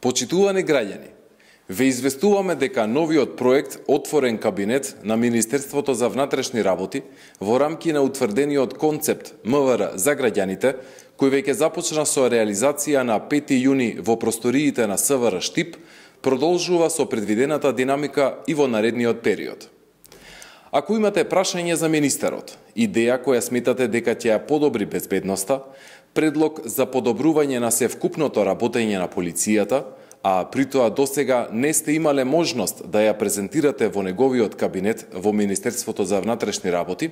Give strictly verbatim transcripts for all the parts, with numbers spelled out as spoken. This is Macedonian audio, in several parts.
Почитувани граѓани, ве известуваме дека новиот проект Отворен кабинет на Министерството за внатрешни работи во рамки на утврдениот концепт М В Р за граѓаните, кој веќе започна со реализација на пети јуни во просториите на С В Р Штип, продолжува со предвидената динамика и во наредниот период. Ако имате прашање за министерот, идеја која сметате дека ќе ја подобри безбедноста, предлог за подобрување на севкупното работење на полицијата, а притоа досега не сте имале можност да ја презентирате во неговиот кабинет во Министерството за внатрешни работи,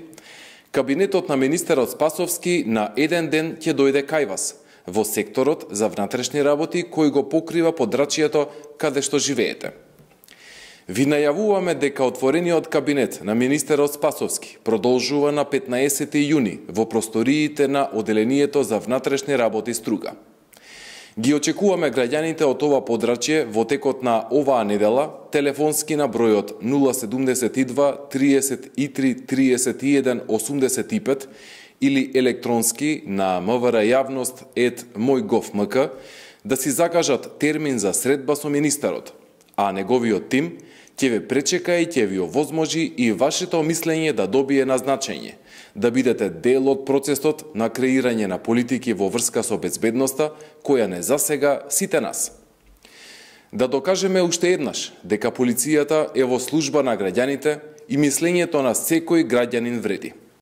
кабинетот на министерот Спасовски на еден ден ќе дојде кај вас, во секторот за внатрешни работи кој го покрива подрачјето каде што живеете. Ви најавуваме дека отворениот кабинет на министерот Спасовски продолжува на петнаесети јуни во просториите на Оделението за внатрешни работи Струга. Ги очекуваме граѓаните од ова подрачје во текот на оваа недела, телефонски на бројот нула седумдесет и два триесет и три триесет и еден осумдесет и пет или електронски на мврјавност ет мојгов.мк да си закажат термин за средба со министерот, а неговиот тим ќе ве пречека и ќе ви овозможи и вашето мислење да добие назначење, да бидете дел од процесот на креирање на политики во врска со безбедноста, која не засега сите нас. Да докажеме уште еднаш дека полицијата е во служба на граѓаните и мислењето на секој граѓанин вреди.